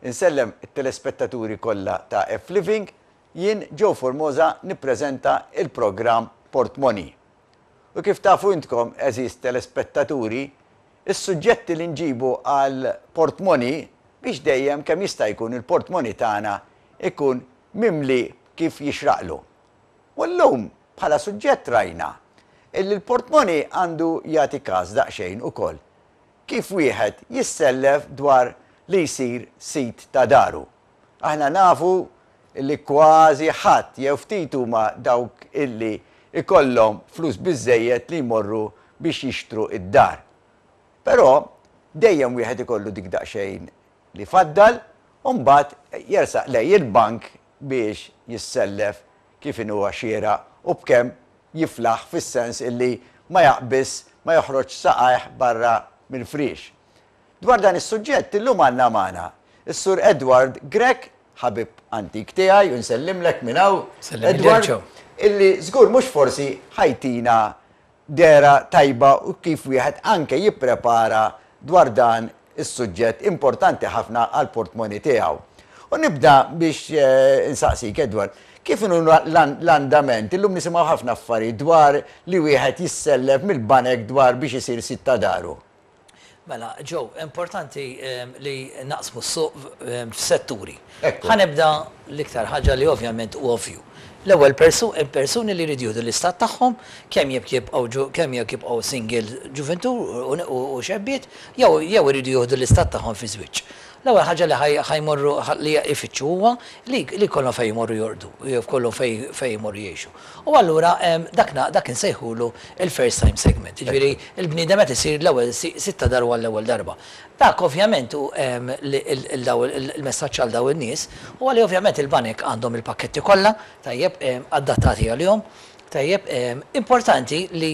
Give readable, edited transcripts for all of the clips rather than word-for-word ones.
Insellem it-telespettaturi kollha ta' F-Living, jien Joe Formosa nippreżenta il-programm Portmoni. U kif tafu intkom, għeżież telespettaturi, is-suġġetti li nġibu għal Portmoni biex dejjem kemm jista' jkun il-portmoni tagħna ikun mimli kif jixraqlu. U llum bħala suġġett rajna illi l-portmoni għandu jagħti każ daqsxejn ukoll kif wieħed jissellef dwar li jsir sid ta' daru. Aħna nafu li kważi ħadd jew ftit huma dawk illi jkollhom flus biżżejjed li jmorru biex jixtru d-dar. Però dejjem wieħed ikollu dik daqsxejn li faddal u mbagħad jersaq lejn il-bank biex jissellef kif inhuwa xieraq u b'kemm jiflaħ fis-sens illi ma jaqbiżx, ma joħroġx saqajh barra mill-friex. Dwar dan is-suġġett illum għandna magħna s-Sur Edward Grech, ħabib antik tiegħi u nsellimlek minn hawn Edward, illi żgur mhux forsi ħa jtina dehra tajba u kif wieħed anke jipprepara dwar dan is-suġġett importanti ħafna għall-portmoni tiegħu. U nibda biex insaqsik, Edward, kif inhu l-andament, illum nisimgħu ħafna affarijiet dwar li wieħed jissellef mill-banek dwar biex isir sid ta' daru. Mela, Joe, importanti li naqsmu s-suq f'setturi. Ħa nibda l-iktar ħaġa li ovvjament hu ovvju. L-ewwel persuni li jridu jieħdu l-istat tagħhom, kemm jekk jibqgħu kemm jekk jibqgħu single ġuvintur u xebbiet, jew jew iridu jieħdu l-istat tagħhom fi żwieġ. L-ewwel ħaġa li ħa jmorru li jfittxu huwa li li jkollhom fejn jmorru jorqdu, jew jkollhom fejn fejn jmorru jgħixu. U allura dak dak insejħulu l-first time segment. Jiġifieri l-bniedem qed isir l-ewwel sid ta' daru għall-ewwel darba. Dak ovvjament hu il-messaġġ għal dawn in-nies huwa li ovvjament il-banek għandhom il-pakketti kollha, tajjeb, adattati għalihom, tajjeb, importanti li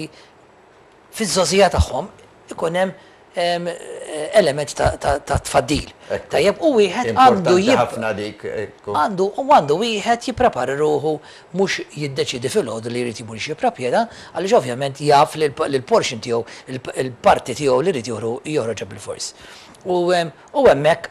fiż-żgħożija tagħhom ikun hemm element ta' tfaddil. Tajjeb, u wieħed għandu ħafna dik. Għandu u għandu wieħed jipprepara ruħu mhux jiddeċiedi filgħodu li jrid jmur xi proprjetà għaliex ovvjament jaf li l-portion tiegħu, il-parti tiegħu li jrid joħroġha bilfors. U hemmhekk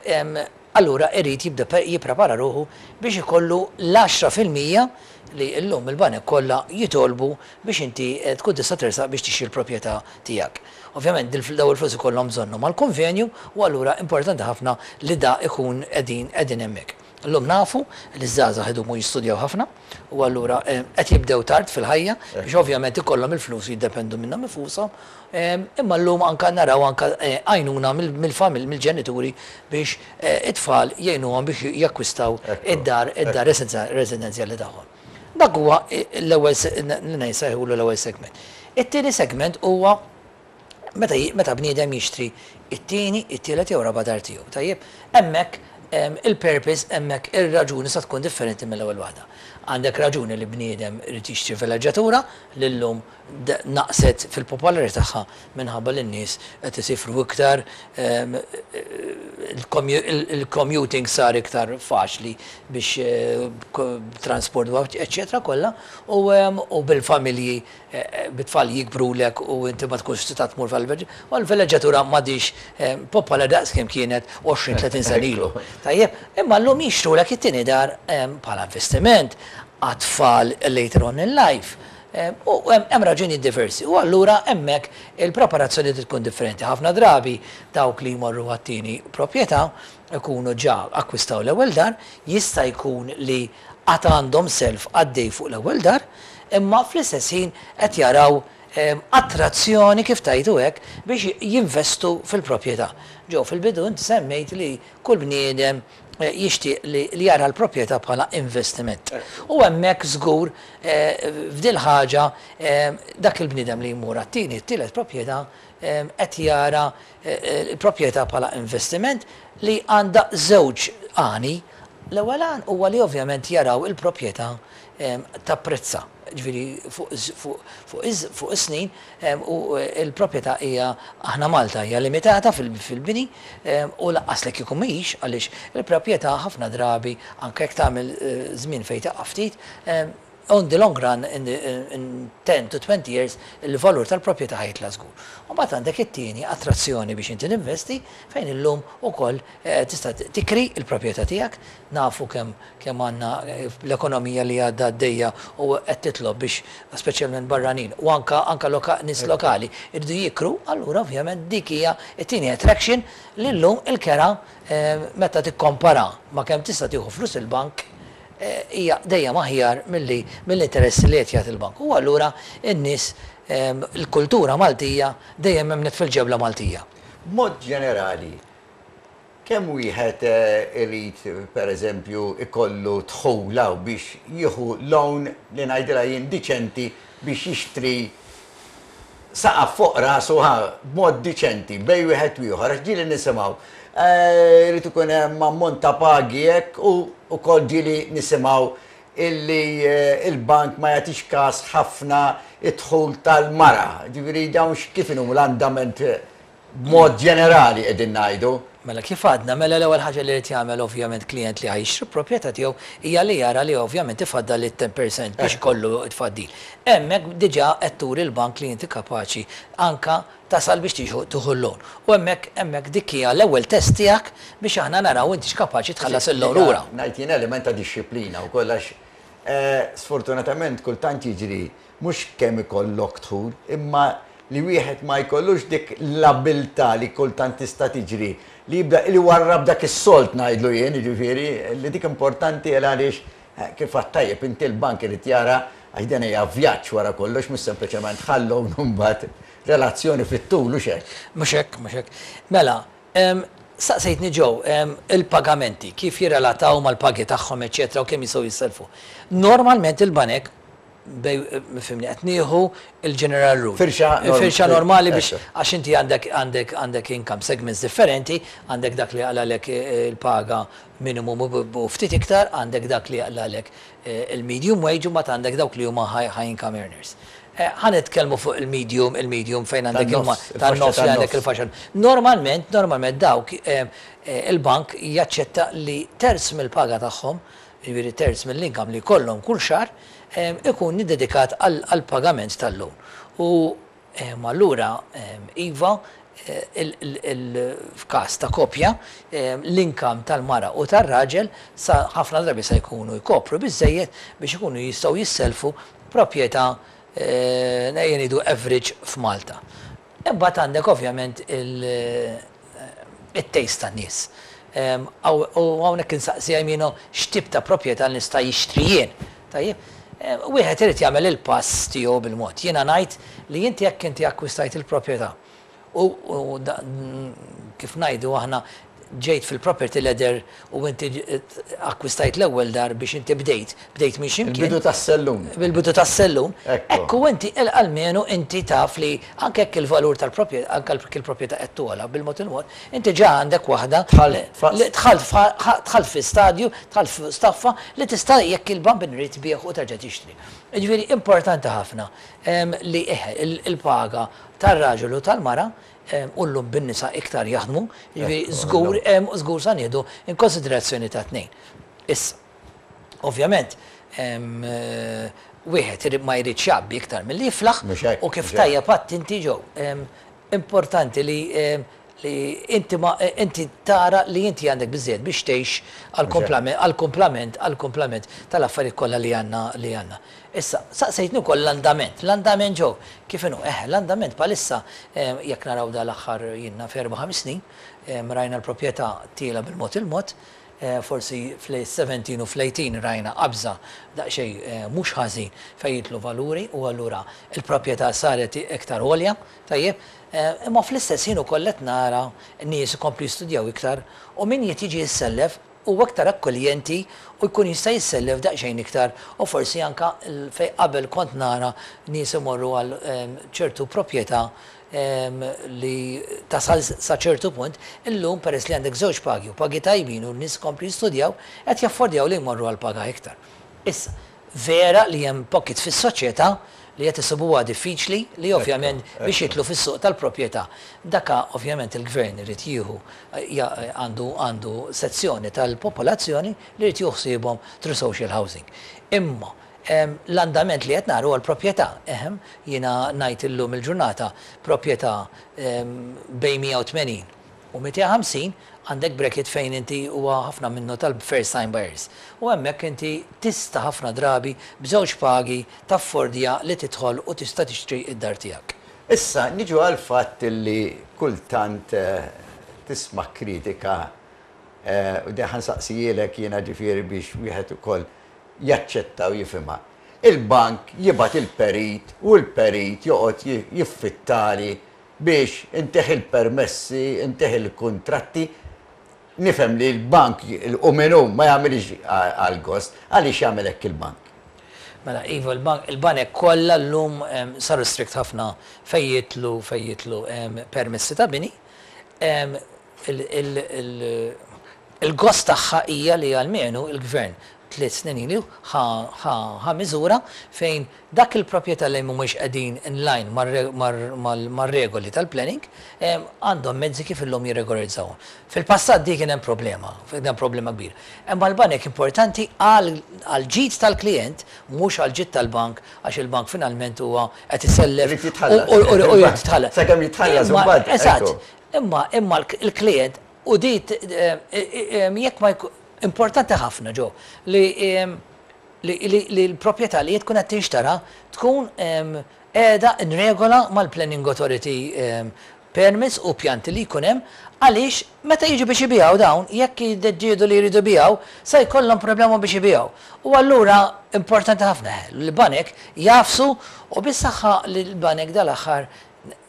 allura irid jibda jipprepara ruħu biex ikollu l-10% li llum il-banek kollha jitolbu biex inti tkun tista' tersaq biex tixtri l-proprjetà tiegħek. Ovvjament dawn il-flus ikollhom bżonnhom għall-konvenju u allura importanti ħafna li da ikun qegħdin qegħdin hemmhekk. Illum nafu li ż-żgħażagħ idumu jistudjaw ħafna u allura qed jibdew tard fil-ħajja biex ovvjament ikollhom il-flus u jiddependu minnhom infushom. Imma llum anke naraw anke għajnuna mill-familji mill-ġenituri biex it-tfal jgħinuhom biex jakkwistaw id-dar id-dar residenzjali tagħhom. Dak huwa l-ewwel li nsejħulu l-ewwel segment. It-tieni segment huwa meta meta bniedem jixtri it-tieni, it-tielet jew raba' dar tiegħu. Tajjeb? Hemmhekk il-purpose, hemmhekk ir-raġuni sa tkun differenti mill-ewwel waħda. Għandek raġuni li bniedem irid jixtri vileġġatura li llum naqset fil-popolarità tagħha minħabba li n-nies qed isifru iktar, il-commuting sar iktar faċli biex transport eċċetera kollha u bil-familji bit-tfal jikbrulek u inti ma tkunx tista' tmur u l-vileġġatura m'għadhiex popolari daqs kemm kienet 20, 30 sena ilu. Tajjeb, imma llum jixtrulek it-tieni dar bħala investiment għat-tfal later on in life. U hemm raġunijiet diversi. U allura hemmhekk il-preparazzjoni trid tkun differenti. Ħafna drabi dawk li jmorru għat-tieni proprjetà ikunu ġa akkwistaw l-ewwel dar, jista' jkun li għad għandhom self għaddej fuq l-ewwel dar, imma fl-istess ħin qed jaraw attrazzjoni kif tgħidu hekk biex jinvestu fil-proprjetà. Ġew fil-bidu inti semmejt li kull bniedem jixtieq li jara l-proprjetà bħala investiment. U hemmhekk żgur f'dil ħaġa dak il-bniedem li jmur għat-tieni, t-tielet proprjetà qed jara l-proprjetà bħala investiment li għandha żewġ għani. L-ewwel għan huwa li ovvjament jaraw il-proprjetà tapprezza, ġifieri fuq is-snin u l-proprjetà hija aħna Malta hija limitata fil-bini u lanqas li kieku mhix għaliex il-proprjetà ħafna drabi anke jekk tagħmel żmien fejn taqa' ftit. On the long run, in, the, in 10 to 20 years, il-valur tal-proprjetà ħa jitla' żgur. U mbagħad għandek it-tieni attrazzjoni biex inti tinvesti fejn illum ukoll tista' tikri l-proprjetà tiegħek. Nafu kemm kemm għandna l-ekonomija li għadha għaddejja u qed titlob biex speċjalment barranin u anka anka loka, nies lokali jridu jikru, allura ovvjament dik hija t-tieni attraction li llum il-kera meta tikkompara ma' kemm tista' tieħu flus il-bank hija dejjem aħjar milli mill-interessi li qed jagħti l-bank. U allura n-nies il-kultura Maltija dejjem emmnet fil-ġebla Maltija. B'mod ġenerali, kemm wieħed irid pereżempju jkollu dħul hawn biex jieħu loan li ngħidilha jien diċenti biex jixtri saqaf fuq rasu ħa b'mod diċenti bejn wieħed u ieħor għax ġieli nisimgħu irid ikun hemm ammont ta' pagi hekk u wkoll ġieli nisimgħu illi il-bank ma jagħtix każ ħafna id-dħul tal-mara. Ġifieri dawn kif inhu l-andament b'mod ġenerali qegħdin ngħidu. Mela kif għadna, mela l-ewwel ħaġa li jrid jagħmel ovvjament klijent li ħa jixtri proprjetà tiegħu hija li jara li ovvjament ifaddal it-10% biex ikollu t-tfaddil. Hemmhekk diġà qed turi l-bank li inti kapaċi anka tasal biex tieħu tieħu l-loan. U hemmhekk hemmhekk dik hija l-ewwel test tiegħek biex aħna naraw intix kapaċi tħallas il-loan lura. Ngħid jien element ta' dixxiplina wkoll għax sfortunatament kultant jiġri Mhux kemm ikollok dħul, imma li wieħed ma jkollux dik l-abiltà li kultant tista' tiġri, li jibda li jwarrab dak is-sold ngħidlu jien, jiġifieri, li dik importanti għal għaliex kif għedt tajjeb inti l-bank irid jara għax dan hija vjaġġ wara kollox mhux sempliċement ħa l-loan u mbagħad relazzjoni fit-tul hux hekk? Mhux hekk, mhux hekk. Mela, staqsejtni Joe, il-pagamenti kif jirrelataw mal-pagi tagħhom eċċetera u kemm jistgħu jissellfu. Normalment il-banek bej, fimni, qed nieħu il-general rule. Firxa Firxa normali biex għax inti għandek għandek għandek income segments differenti, għandek dak li jaqlalek il-paga minimum u ftit iktar, għandek dak li jaqlalek il-medium wage u mbagħad għandek dawk li huma high, high income earners. Ħa nitkellmu fuq il-medium, il-medium fejn għandek tan-nofs li għandek il-faxxa. Normalment, normalment dawk il-bank jaċċetta li terz mill-paga tagħhom, jiġifieri terz mill-income li jkollhom kull xahar, ikun iddedikat għall-pagament tal-loan. U allura iva, f'każ ta' koppja, l-income tal-mara u tar-raġel sa ħafna drabi sa jkunu jkopru biżżejjed biex ikunu jistgħu jissellfu proprjetà, ejja ngħidu average f'Malta. Imbagħad għandek ovvjament it-taste tan-nies. U hawnhekk insaqsi Aimino x'tip ta' proprjetà nista' jixtri jien. Tajjeb? Wieħed irid jagħmel il-pass tiegħu bil-mod. Jiena ngħid li inti jekk inti akkwistajt il-proprjetà u kif ngħidu aħna ġejt fil-property ladder u inti akkwistajt l-ewwel dar biex inti bdejt, bdejt minn x'imkien. Il-bidu tas-sellum. Bil-bidu tas-sellum. Ekku inti almenu inti taf li anke jekk il-valur tal-proprjetà, anke jekk il-proprjetà qed togħla bil-mod il-mod, inti ġa għandek waħda li dħalt dħalt fi stadju, dħalt f'staffa li tista' jekk il-bambin irid tbigħ u terġa' tixtri. Jiġifieri importanti ħafna li il-paga tar-raġel u tal-mara u llum bin-nisa iktar jaħdmu, jiġifieri żgur żgur sa nieħdu in konsiderazzjoni tat-tnejn. Issa, ovvjament, wieħed ma jridx jgħabbi iktar milli jiflaħ u kif tajjeb għedt inti Joe, importanti li li inti ma inti tara li inti għandek biżżejjed biex tgħix għall-kumplament għall-kumplament tal-affarijiet kollha li għandna li għandna. Issa, saqsejtni wkoll l-andament. L-andament Joe, kif inhu? Eħe, l-andament bħalissa jekk naraw dal-aħħar jien naf erba' ħames snin, rajna l-proprjetà tiela' bil-mod il-mod, forsi fl-17 u fl-18 rajna qabża daqsxejn mhux ħażin fejn jidħlu valuri u allura l-proprjetà saret iktar għolja, tajjeb. Imma fl-istess ħin ukoll qed nara nies ikomplu jistudjaw iktar u min qed jiġi jissellef huwa iktar akkoljenti u jkun jista' jissellef daqsxejn iktar u forsi anke fejn qabel kont nara nies imorru għal ċertu proprjetà li tasal sa ċertu punt, illum peress li għandek żewġ pagi u pagi tajbin u n-nies ikomplu jistudjaw, qed jaffordjaw li jmorru għal paga iktar. Issa, vera li hemm pockets fis-soċjetà li qed isibuha diffiċli li ovvjament biex jidħlu fis-suq tal-proprjetà. Daka ovvjament il-gvern irid jieħu għandu għandu sezzjoni tal-popolazzjoni li jrid jieħu ħsiebhom through social housing. Imma. L-andament li qed nara huwa l-proprjetà. Ehem, jiena ngħid illum il-ġurnata proprjetà bejn 180 u 250 għandek bracket fejn inti huwa ħafna minnu tal-first time buyers. U hemmhekk inti tista' ħafna drabi b'żewġ pagi taffordja li tidħol u tista' tixtri d-dar tiegħek. Issa niġu għall-fatt li kultant tisma' kritika u din ħa nsaqsihielek jiena ġifieri biex wieħed ukoll jaċċetta u jifhimha. Il-bank jibgħat il-perit u l-perit joqgħod jiffittali biex intih il-permessi, intih il-kuntratti. Nifhem li l-bank hu min hu ma jagħmilhiex għall-gost. Għaliex jagħmel hekk il-bank? Mela iva, il-banek kollha llum saru strict ħafna fejn jidħlu fejn jidħlu permessi ta' bini. Il-gost tagħha hija li almenu l-Gvern tliet snin ilu ħa miżura fejn dak il-proprjetà li mhumiex qegħdin in line mar-regoli tal-planning għandhom mezzi kif illum jirregolarizzawhom. Fil-passat di kien hemm problema, kien hemm problema kbira. Imma l-banek importanti għall-ġid tal-klijent mhux għall-ġid tal-bank għax il-bank finalment huwa qed isellef u jrid jitħallas. Sakemm jitħallas imbagħad. Eżatt. Imma imma l-klijent u di jekk ma importanti ħafna Joe li li l-proprjetà li tkun qed tinxtara tkun qiegħda in regola mal-Planning Authority permits u pjanti li jkun hemm għaliex meta jiġu biex ibigħu dawn jekk jiddeċiedu li jridu jbigħu se jkollhom problema biex ibigħu. U allura importanti ħafna li l-banek jagħfsu u bis-saħħa li l-banek dal-aħħar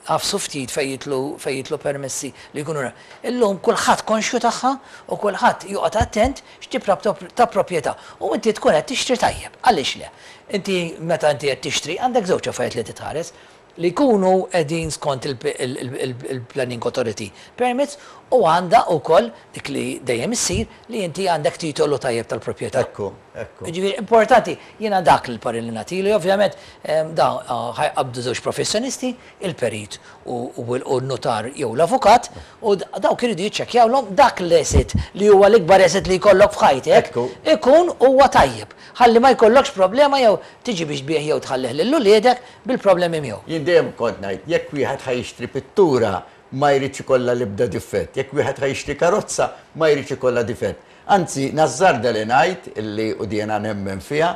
għafsu ftit fejn jidħlu fejn jidħlu permessi li jkunu Illum kulħadd konxju tagħha u kulħadd joqgħod attent x'tip ta' proprjetà. U inti tkun qed tixtri tajjeb. Għaliex le? Inti meta inti qed tixtri għandek żewġ affarijiet li titħares, li jkunu qegħdin skont il-Planning Authority permits u għandha wkoll dik li dejjem issir li inti għandek titolu tajjeb tal-proprjetà. Ekku, ekku. Jiġifieri importanti, jiena dak l-parir li nagħtilu, ovvjament dawn ħa jqabbdu żewġ professjonisti, il-perit u n-nutar jew l-avukat, u dawk iridu jiċċekkjawlhom dak l-asset li huwa l-ikbar asset li jkollok f'ħajtek ikun huwa tajjeb. Ħalli ma jkollokx problema jew tiġi biex tbigħ jew tħallih lil uliedek bil-problemi miegħu. Jien dejjem kont ngħid, jekk wieħed ħa jixtri pittura ma jridx ikollha l-ebda difett, jekk wieħed ħa jixtri karozza ma jridx ikollha difett. Anzi, nażżarda li ngħid, illi u di jiena nemmen fiha,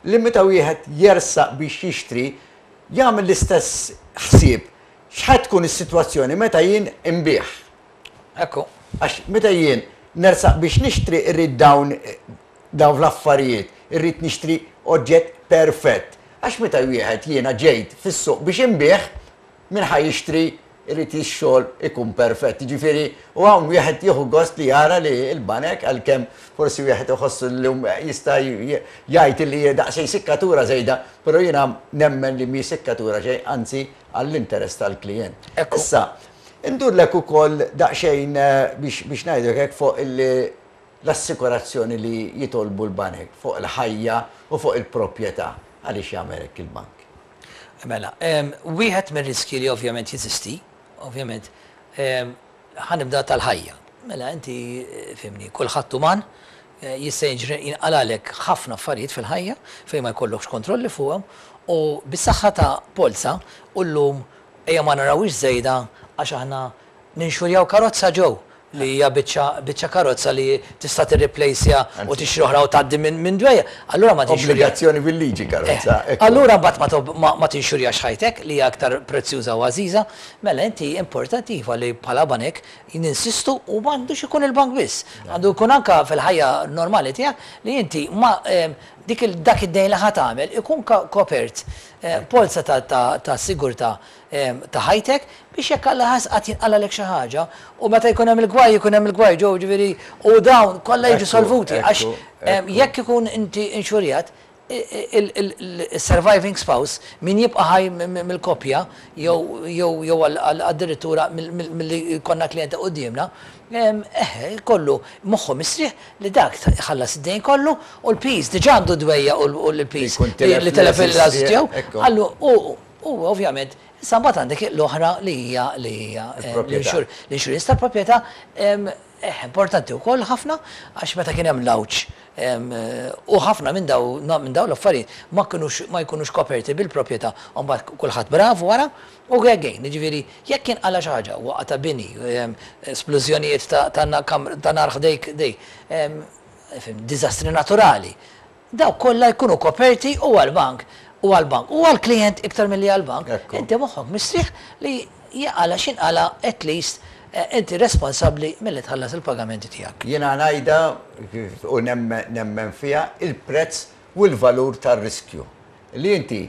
li meta wieħed jersaq biex jixtri, jagħmel l-istess ħsieb, x'ħa tkun is-sitwazzjoni meta jien inbigħ. Ekku. Għax meta jien nersaq biex nixtri rrid dawn dawn l-affarijiet, irrid nixtri oġġett perfett. Għax meta wieħed jiena ġejt fis-suq biex inbigħ, min ħa jixtri irid ix-xogħol ikun perfett. Jiġifieri, u hawn wieħed jieħu gost li jara li l-banek, għalkemm forsi wieħed iħossu llum jista' jgħid li daqsxejn sikkatura żejda, però jiena nemmen li mhi sikkatura xejn, anzi għall-interess tal-klijent. Issa, indurlek ukoll daqsxejn biex ngħidlek hekk fuq l-assikurazzjoni li jitolbu l-banek fuq il-ħajja u fuq il-proprjetà. Għaliex jagħmel hekk il-bank? Mela, wieħed mir-riskji li ovvjament jeżisti, ovvjament, ħa nibda tal-ħajja. Mela inti fhimni, kulħadd uman, jista' jiġri jinqalgħalek ħafna affarijiet fil-ħajja fejn ma jkollokx kontrolli fuqhom u bis-saħħa ta' polza u llum ejja ma narawhiex żejda għax aħna Ninxurjaw karozza ġew, li hija biċċa biċċa karozza li tista' tirriplejsja u tixtri oħra u tgħaddi minn minn dwejja. Allura ma tinxurja. Obbligazzjoni bil-liġi karozza, ekku. Allura mbagħad ma ma ma tinxurjax ħajtek li hija aktar prezzjuża u għażiża. Mela inti importanti iva li bħala banek ninsistu u m'għandux ikun il-bank biss. Għandu jkun anke fil-ħajja normali tiegħek li inti ma dik il dak id-dejn li ħa tagħmel ikun kopert polza ta' ta' ta' sigurtà ta' ħajtek biex jekk Alla ħass qatt jinqalgħalek xi ħaġa u meta jkun hemm il-gwaj jkun hemm il-gwaj ġew ġifieri u dawn kollha jiġu solvuti għax jekk ikun inti inxurjat il-surviving spouse min jibqa' ħaj mill-koppja jew jew jew addirittura milli jkollna klijenti quddiemna eħe jkollu moħħu mistrieħ li dak iħallas id-dejn kollu u l-piż diġà għandu dwejjaq u l-piż li tilef il-għażiż tiegħu u U ovvjament Issa mbagħad għandek l-oħra li hija li hija l-insurance tal-proprjetà. Importanti wkoll ħafna għax meta kien hemm l-għawġ u ħafna minn dawn minn dawn l-affarijiet ma kinux ma jkunux koperti bil-proprjetà u mbagħad kulħadd bravu wara u again, jiġifieri jekk jinqala' xi ħaġa, waqgħa ta' bini, splużjonijiet ta' nar ħdejk, diżastri naturali, Dawk kollha jkunu koperti u għall-bank u għall-bank u għall-klijent iktar milli għall-bank. Inti moħħok mistrieħ li jinqala' x'inqala' at least inti responsabbli milli tħallas il-pagamenti tiegħek. Jiena ngħidha u nemmen fiha, il-prezz u l-valur tar-riskju. Li inti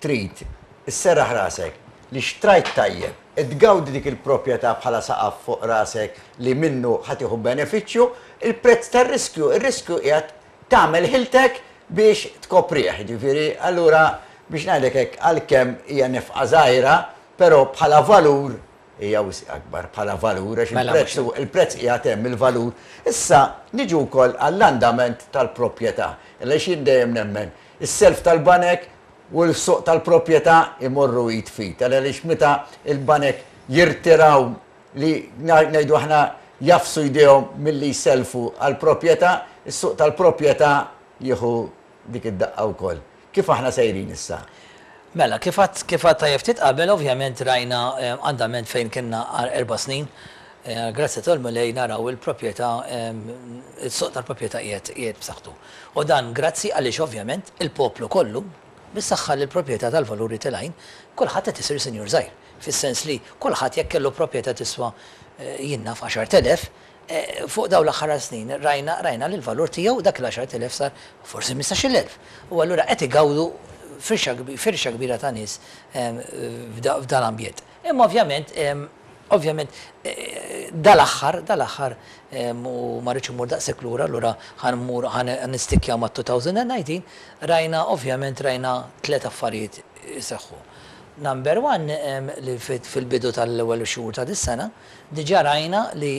trid isserraħ rasek li xtrajt tajjeb, qed tgawdi dik il-proprjetà bħala saqaf fuq rasek li minnu ħa tieħu benefiċċju, il-prezz tar-riskju, ir-riskju qiegħed tagħmel ħiltek biex tkoprih, jiġifieri allura biex ngħidlek hekk għalkemm hija nefqa żgħira, però bħala valur hija wisq akbar bħala valur għax il-prezz il-prezz qiegħed hemm il-valur. Issa niġu wkoll għall-andament tal-proprjetà, għaliex jien dejjem nemmen is-self tal-banek u l-suq tal-proprjetà jmorru id f'id, għaliex meta l-banek jirtiraw li ngħidu aħna jagħfsu jdejhom milli jsellfu għall-proprjetà, is-suq tal-proprjetà jieħu dik id-daqqa wkoll. Kif aħna sejrin issa? Mela, kif għedt kif għedt tajjeb ftit qabel, ovvjament rajna andament fejn kienna għal erba' snin, għall-grazzja tal-Mulej naraw il-proprjetà, is-suq tal-proprjetà qiegħed qiegħed b'saħħtu. U dan grazzi għaliex ovvjament il-poplu kollu, bis-saħħa li l-proprjetà tal-valuri telgħin, kulħadd qed isir sinjur żgħir. Fis-sens li kulħadd jekk kellu proprjetà tiswa jien naf 10,000, fuq dawn l-aħħar snin rajna rajna li l-valur tiegħu dak il-10,000 sar forsi 15,000. U allura qed igawdu firxa firxa kbira ta' nies f'dan l-ambjent. Imma ovvjament ovvjament dal-aħħar dal-aħħar u ma rridx immur daqshekk lura allura ħa mmur ħa nistikkja mat-2019 rajna ovvjament rajna tliet affarijiet iseħħu. Number one li fil-bidu tal-ewwel xhur ta' dis-sena diġà rajna li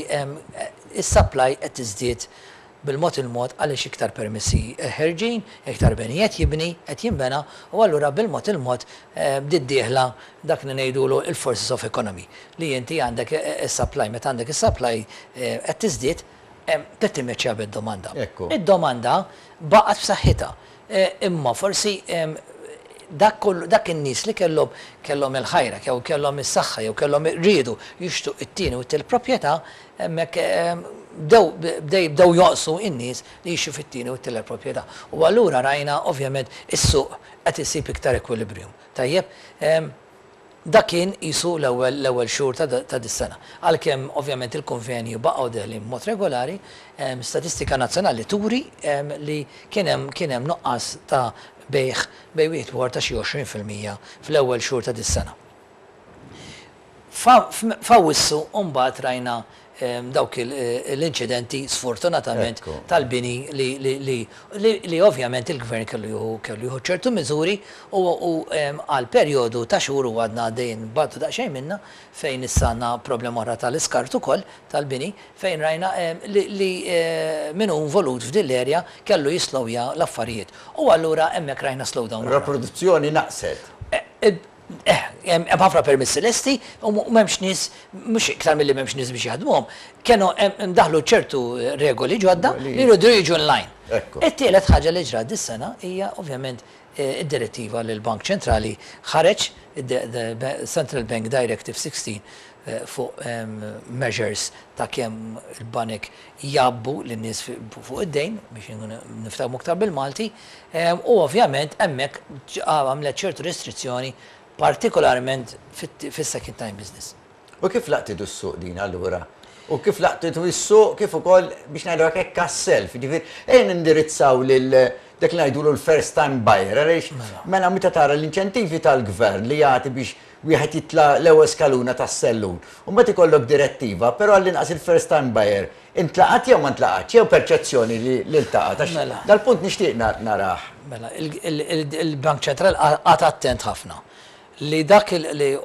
s-supply qed tiżdied bil-mod il-mod għaliex iktar permessi ħerġin, iktar beni qed jibni, qed jinbena u allura bil-mod il-mod bdiet dieħla dak li ngħidulu l-forces of economy li inti għandek is-supply, meta għandek is-supply qed tiżdied trid timmeċċja bid-domanda. Id-domanda baqgħet b'saħħitha. Imma forsi dak kollu, dak in-nies li kellhom kellhom il-ħajra jew kellhom is-saħħa jew kellhom riedu jixtru t-tieni u t-tielet proprjetà, hemmhekk bdew bdew jonqsu n-nies li jixtru fit-tieni u t-tielet proprjetà. U allura rajna ovvjament is-suq qed isib iktar equilibrium. Tajjeb? Dak kien qisu l-ewwel l-ewwel xhur ta' ta' dis-sena. Għalkemm ovvjament il-konvenji baqgħu deħlin b'mod regolari, statistika nazzjonali turi li kien hemm kien hemm nuqqas ta' bejgħ bejn wieħed u ieħor ta' xi 20% fl-ewwel xhur ta' dis-sena. F'Awwissu mbagħad rajna dawk l-inċidenti sfortunatament tal-bini li ovvjament il-Gvern kellu jieħu kellu jieħu ċertu miżuri u għal perjodu ta' xhur u għadna għaddejjin b'għaddu daqsxejn minnha fejn issa għandna problema oħra tal-iskart ukoll tal-bini fejn rajna li min hu involut f'din l-area kellu jislowja l-affarijiet u allura hemmhekk rajna slowdown oħra. Ir-riproduzzjoni naqset. Eh, hemm ħafna permessi lesti u m'hemmx nies, mhux iktar milli m'hemmx nies biex jaħdmuhom, kienu daħlu ċertu regoli ġodda li jridu jiġu online. It-tielet ħaġa li ġrat dis-sena hija ovvjament id-direttiva li l-Bank Ċentrali ħareġ, Central Bank Directive 16 fuq measures ta' kemm il-banek jgħabbu lin-nies fuq id-dejn, biex niftehmu iktar bil-Malti, U ovvjament hemmhekk għamlet ċertu restrizzjoni partikolarment fis-second time business. U kif laqtitu s-suq din allura? U kif laqtitu s-suq kif ukoll biex ngħidu hekk hekk għas-self, jiġifieri ejja nindirizzaw lil dak li ngħidulu l-first time buyer għaliex mela meta tara l-inċentivi tal-gvern li jagħti biex wieħed jitla' l-ewwel skaluna tas-sellun u mbagħad ikollok direttiva, però għall-inqas il-first time buyer Intlaqat jew ma ntlaqatx, jew perċezzjoni li ltaqat, għax dal-punt nixtieq narah. Mela, il-Bank Ċentrali qagħad attent ħafna li dak li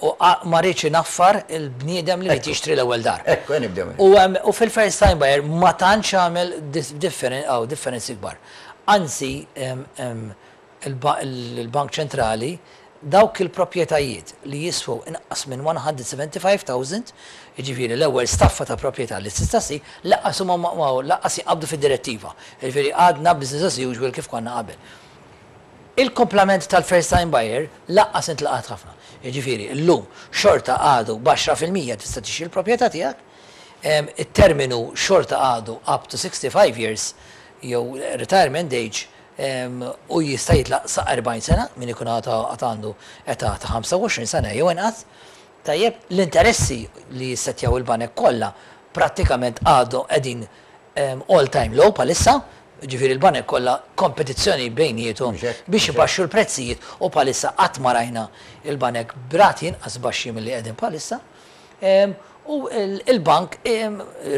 ma riedx inaffar il-bniedem li ried jixtri l-ewwel dar. Ekku, ejja nibdew minn hemm. U fil-first time buyer ma tantx għamel differenzi kbar. Anzi, il-Bank Ċentrali Dawk il-proprjetajiet li jiswew inqas minn 175,000, jiġifieri l-ewwel staffa ta' proprjetà li tista' ssir, lanqas huma lanqas jinqabdu fid-direttiva. Jiġifieri għadna business as usual kif konna qabel. Il-kumplament tal-first time buyer lanqas intlaqat ħafna. Jiġifieri llum xorta għadu b'10% tista' tixtri l-proprjetà tiegħek. It-terminu xorta għadu up to 65 years jew retirement age u jista' jitlaq sa 40 sena min ikun għad għandu età ta' 25 sena jew inqas. Tajjeb, l-interessi li jissettjaw il-banek kollha prattikament għadhom qegħdin all time low bħalissa, jiġifieri l-banek kollha kompetizzjoni bejniethom biex ibaxxu l-prezzijiet u bħalissa qatt ma rajna l-banek b'rati inqas baxxi milli qegħdin bħalissa. U l-bank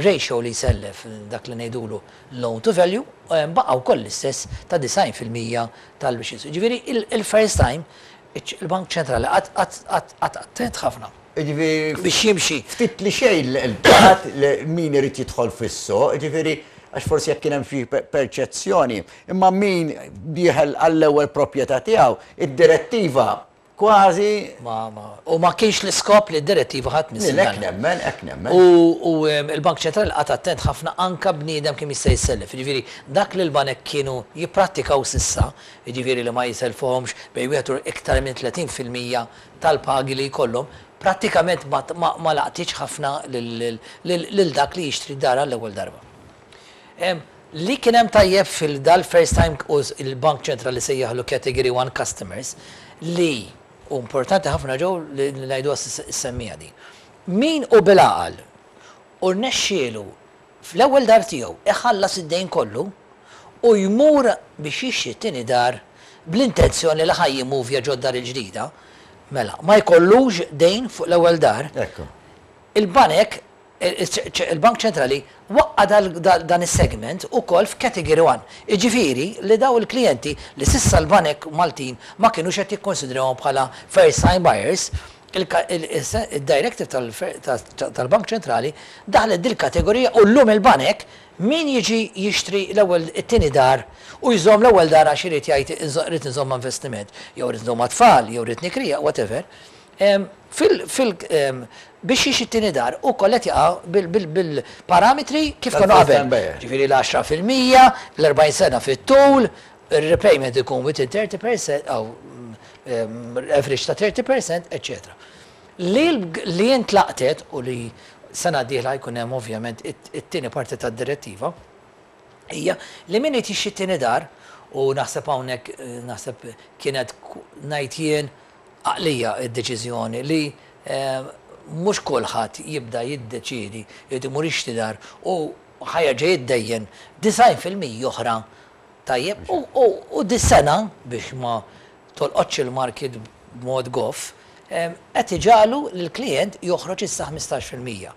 ratio li jsellef, dak li ngħidulu loan to value, baqa' wkoll l-istess ta' 90% tal-biex Jiġifieri il-first time il-Bank Ċentrali qagħad attent ħafna. Jiġifieri biex jimxi. Ftit li xejn l-qagħad min irid jidħol fis-suq, jiġifieri għax forsi jekk kien hemm xi perċezzjoni, imma min dieħel għall-ewwel proprjetà tiegħu, id-direttiva Kważi. Ma, ma. U ma kienx l-iskop li d-direttiva ħa tmiss il-dan. Hekk nemmen, hekk nemmen. U l-Bank Ċentrali qagħad attent ħafna anke bniedem kemm jista' jissellef. Jiġifieri dak li l-banek kienu jipprattikaw s'issa, jiġifieri li ma jisellfuhomx bejn wieħed u iktar minn 30% tal-pagi li jkollhom, prattikament ma, ma laqtitx ħafna lil dak li jixtri dar għall-ewwel darba. Li kien hemm tajjeb fil dal-first time u l-Bank Ċentrali sejjaħlu Category 1 Customers li, u importanti ħafna ġew li ngħiduha ssemmija din, min hu bil-għaqal u rnexxielu fl-ewwel dar tiegħu iħallas id-dejn kollu u jmur biex jixtri t-tieni dar bl-intenzjoni li ħa jimmuvja ġod-dar il-ġdida, mela ma jkollux dejn fuq l-ewwel dar, il-banek Il-Bank Ċentrali waqqa' dan is-segment ukoll f'Category 1, jiġifieri li dawn il-klijenti li s'issa l-banek Maltin ma kinux qed jikkunsidrawhom bħala first time buyers, id-directive tal-Bank Ċentrali daħlet dil-kategorija u llum il-banek min jiġi jixtri l-ewwel it-tieni dar u jżomm l-ewwel dar għax irid jgħid irrid inżommha investiment jew irrid inżommha tfal jew irrid nikriha whatever, Fil, fil, biex jixtri t-tieni dar ukoll qed jaqa' bil-parametri kif kienu qabel. Ġifieri l-10%, l-40 sena fit-tul, ir-repayment ikun within 30%, average ta' 30%, eċċetera. Li li intlaqtet u li sena d-dieħla jkun hemm ovvjament it-tieni parti tad-direttiva, hija li min irid jixtri t-tieni dar, u naħseb hawnhekk naħseb kienet ngħid jien għaqlija d-deċiżjoni li mhux kulħadd jibda jiddeċiedi jrid imur jixtri dar u ħa jerġa' jiddejjen 90% oħra tajjeb u dis-sena biex ma tolqotx il-market b'mod goff qed iġagħlu lill-klijent joħroġ issa 15%.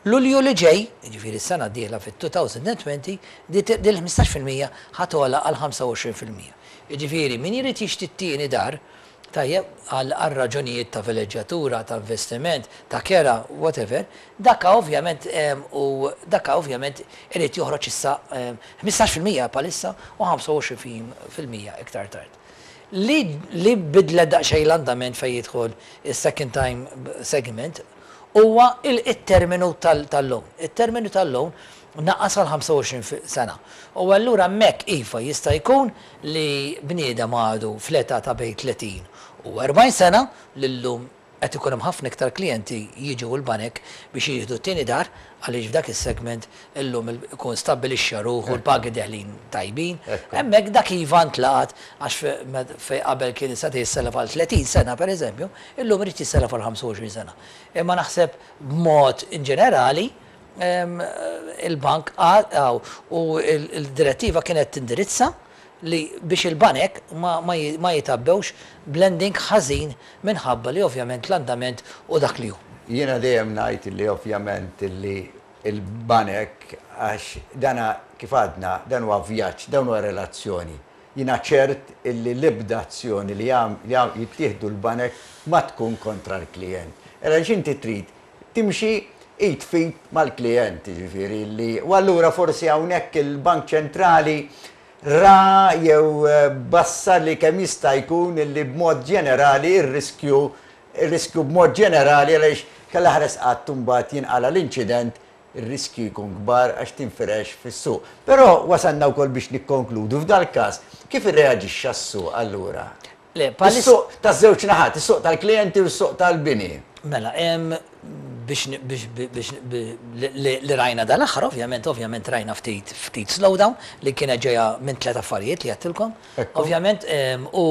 Lulju li ġej, jiġifieri s-sena d-dieħla fit-2020, din il-15% ħa togħla għal 25%. Jiġifieri min irid jixtri t-tieni dar, tajjeb, għal raġunijiet ta' villeġġjatura, ta' investiment, ta' kera, whatever, dakka ovvjament u dakka ovvjament irid joħroġ issa 15% bħalissa u 25% iktar tard. Li li bidlet daqsxejn l-andament fejn jidħol is-second time segment huwa it-terminu tal-loan. It-terminu tal-loan naqas għal 25 sena. U allura hemmhekk iva jista' jkun li bniedem għadu fl-età ta' bejn 30 u 40 sena li llum qed ikun hemm ħafna iktar klijenti jiġu l-banek biex jieħdu t-tieni dar għaliex f'dak is-segment illum ikun stabbilixxa ruħu l-pagi deħlin tajbin. Hemmhekk dak iva ntlaqat għax fejn qabel kien seta' jissellef għal 30 sena pereżempju, illum irid jissellef għal 25 sena. Imma naħseb b'mod inġenerali il-bank u l-direttiva kienet tindirizza li biex il-banek ma jitgħabbewx b'lending ħażin minħabba li ovvjament l-andament hu dak li hu. Jiena dejjem ngħid li ovvjament li l-banek għax dana kif għadna dan huwa vjaġġ, dan huwa relazzjoni. Jiena ċert illi l-ebda azzjoni li jittieħdu l-banek ma tkun kontra l-klijent. Għaliex inti trid timxi id f'id mal-klijent, jiġifieri li u allura forsi hawnhekk il-Bank Ċentrali. ra jew bassar li kemm jista' jkun illi b'mod ġenerali r-riskju ir-riskju b'mod ġenerali għaliex kellha ħares qatt imbagħad jinqala' l-inċident ir-riskju jkun kbar għax tinfirex fis-suq. Però wasalna wkoll biex nikkonkludu f'dal-każ kif irreaġixxa s-suq allura? Le, bħalissa. Is-suq taż-żewġ naħat, is-suq tal-klijenti u s-suq tal-bini. Mela, biex biex biex li rajna dal-aħħar ovvjament ovvjament rajna ftit ftit slowdown li kienet ġejja minn tlett affarijiet li għedtilkom. Ovvjament u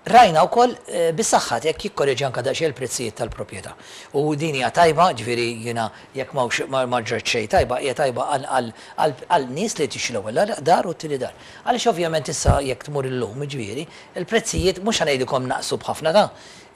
Rajna wkoll bis-saħħa jekk jikkoreġi anke daqsxejn il-prezzijiet tal-proprjetà. U din hija tajba, ġifieri jiena jekk m'hawnx ma ġrat xejn tajba, hija tajba għal nies li jtixtru l-ewwel dar u t-tieni dar. Għaliex ovvjament issa jekk tmur illum, jiġifieri, il-prezzijiet mhux ħa ngħidilkom naqsu b'ħafna ta'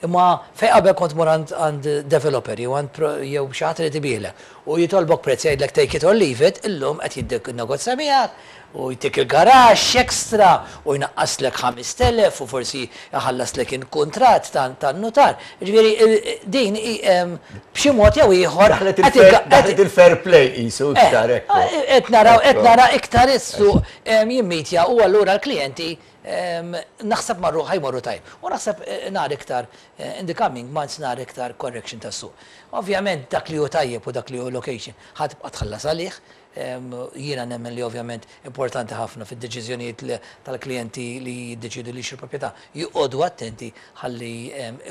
imma fejn qabel kont tmur għand developer jew għand jew xi ħadd irid ibigħlek u jitolbok prezz jgħidlek take it or leave it, illum qed jinnegozja miegħek u jtik il-garaxx extra u jnaqqaslek 5,000 u forsi jħallaslek il-kuntratt tan-nutar. Jiġifieri din hi b'xi mod jew ieħor Daħlet il-fair play qisu iktar hekk. Qed naraw qed nara iktar is-suq jimmitja u allura l-klijenti naħseb marru ħa jmorru tajjeb. U naħseb nara iktar in the coming months nara iktar correction tas-suq. Ovvjament dak li hu tajjeb u dak li hu location ħa tibqa' tħallas għalih, Jiena nemmen li ovvjament importanti ħafna fid-deċiżjonijiet tal-klijenti li jiddeċiedu li jixtru proprjetà joqogħdu attenti ħalli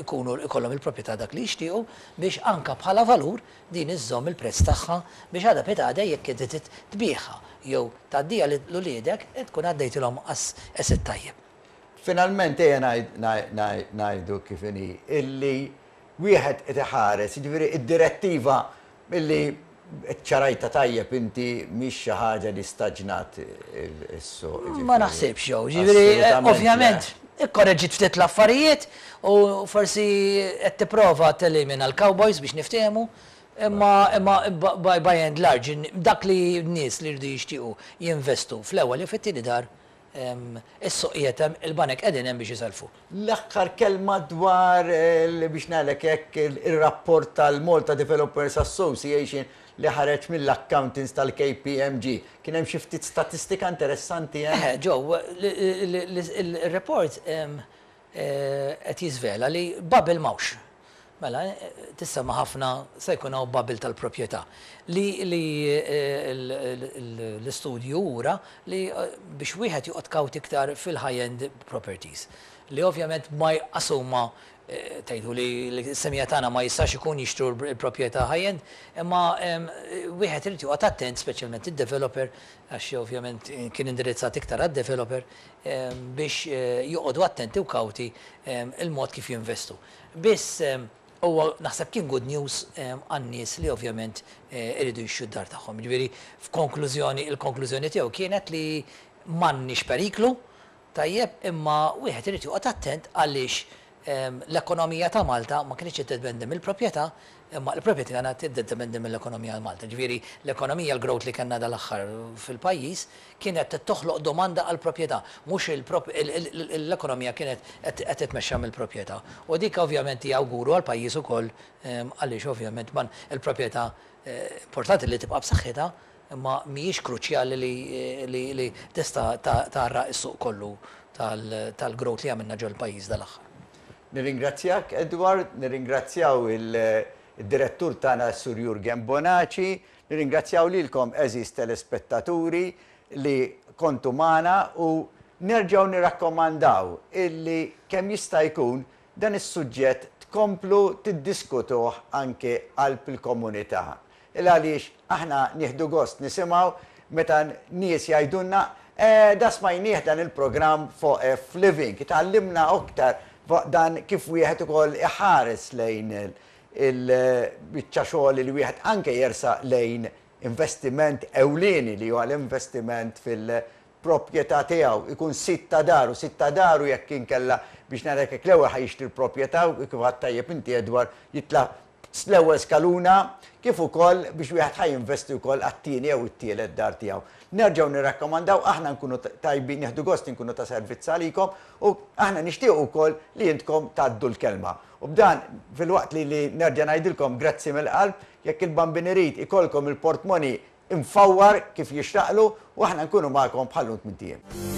jkunu jkollhom il-proprjetà dak li jixtiequ biex anke bħala valur din iżżomm il-prezz tagħha biex għada pitgħada jekk inti trid tbigħha jew tgħaddiha lil uliedek tkun għaddejtilhom asset tajjeb. Finalment ejja ngħidu kif inhi illi wieħed qed iħares, jiġifieri d-direttiva illi ċċarajtha tajjeb inti mhix xi ħaġa li staġnat is-suq, jiġifieri. Ma naħsibx jew, jiġifieri ovvjament ikkoreġġiet ftit l-affarijiet u forsi qed tipprova telimina l-cowboys biex niftehmu, imma imma by and large dak li n-nies li jridu jixtiequ jinvestu fl-ewwel jew fit-tieni dar Is-suq qiegħed hemm, il-banek qegħdin hemm biex isellfu. L-aħħar kelma dwar, biex ngħidlek hekk, ir-rapport tal-Malta Developers Association li ħareġ mill-accountants tal-KPMG. Kien hemm xi ftit statistika interessanti hemm? Eħe, Joe, ir-report qed jiżvela li bubble m'hawnx. Mela, tissemma ħafna se jkun hawn bubble tal-proprjetà. Li li l-istudju wura li biex wieħed joqgħod kawt iktar fil-high-end properties. Li ovvjament ma jqas huma tgħidu li s-semija tagħna ma jistax ikun jixtru l-proprjetà high-end, imma wieħed irid joqgħod attent speċjalment id-developer għax ovvjament kien indirizzat iktar għad-developer biex joqogħdu attenti u kawti il-mod kif jinvestu. Biss huwa naħseb kien good news għan-nies li ovvjament iridu jixtru d-dar tagħhom. Jiġifieri f'konklużjoni, il-konklużjoni tiegħu kienet li m'għandniex periklu, tajjeb, imma wieħed irid joqgħod attent għaliex l-ekonomija ta' Malta ma kinitx qed tiddependi mill-proprjetà, imma l-proprjetà kienet tiddependi mill-ekonomija ta' Malta. Jiġifieri l-ekonomija, l-growth li kellna dal-aħħar fil-pajjiż kienet qed toħloq domanda għall-proprjetà, mhux l-ekonomija kienet qed titmexxa mill-proprjetà. U dik ovvjament hija awguru għall-pajjiż ukoll għaliex ovvjament il-proprjetà importanti li tibqa' b'saħħitha imma mhijiex kruċjali li tista' tgħarraq is-suq kollu tal-growth li għamilna ġol-pajjiż dal-aħħar. Nirringrazzjak Edward, nirringrazzjaw id-direttur tagħna s-Sur Jurgen Bonaci, Nirringrazzjaw lilkom għeżież telespettaturi li kontu magħna u nerġgħu nirrakkomandaw illi kemm jista' jkun dan is-suġġett tkomplu tiddiskutuh anke qalb il-komunità. Il għaliex aħna nieħdu gost nisimgħu meta nies jgħidulna eh da smajnieh dan il-programm fuq F-Living, tgħallimna aktar fuq dan kif wieħed ukoll iħares lejn il-biċċa xogħol li wieħed anke jersaq lejn investiment ewlieni li huwa l-investiment fil-proprjetà tiegħu, ikun sid ta' daru, sid ta' daru jekk inkella biex ngħidlek hekk l-ewwel ħa jixtri l-proprjetà u kif għedt tajjeb inti Edward jitla' l-ewwel skaluna kif ukoll biex wieħed ħa jinvesti wkoll għat-tieni jew it-tielet dar tiegħu. Nerġgħu nirrakkomandaw aħna nkunu tajbin nieħdu gost inkunu ta' servizz għalikom u aħna nixtiequ wkoll li intkom tgħaddu l-kelma. U b'dan, filwaqt li li nerġa' ngħidilkom grazzi mill-qalb, jekk il-Bambin irid ikollkom il-portmoni imfawwar kif jixraqlu u aħna nkunu magħkom bħal-lum tmint ijiem.